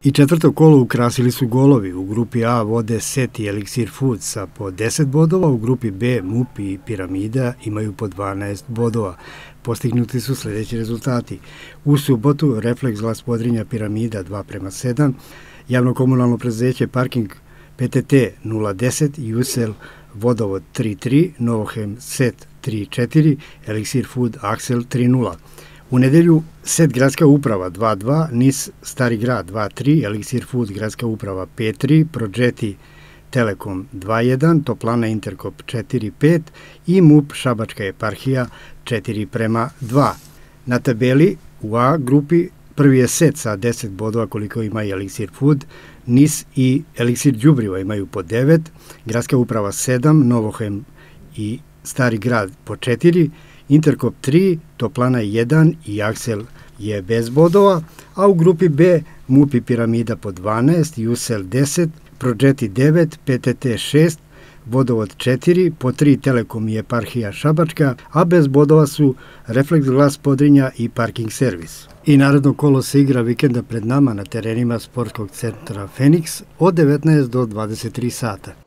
I četvrto kolo ukrasili su golovi. U grupi A vode Set i Eliksir Food sa po 10 bodova, u grupi B MUP i Piramida imaju po 12 bodova. Postignuti su sljedeći rezultati. U subotu Refleks Glas Podrinja Piramida 2:7, javno-komunalno preduzeće Parking PTT 0:10, Jusel Vodovod 3:3, Novohem Set 3:4, Eliksir Food Aksel 3:0. U nedelju Set Gradska uprava 2:2, NIS Stari grad 2:3, Eliksir Food Gradska uprava 5:3, Prođeti Telekom 2:1, Toplana Interkop 4:5 i MUP Šabačka eparhija 4:2. Na tabeli u A grupi prvi je Set sa 10 bodova koliko ima i Eliksir Food, NIS i Eliksir đubriva imaju po 9, Gradska uprava 7, Novohem i Stari grad po 4, Interkop 3, Toplana 1 i Aksel je bez bodova, a u grupi B MUP i Piramida po 12, Jusel 10, Prođeti 9, PTT 6, Vodovod 4, po 3 Telekom i eparhija Šabačka, a bez bodova su Refleks Glas Podrinja i Parking servis. I naredno kolo se igra vikenda pred nama na terenima sportskog centra Feniks od 19 do 23 sata.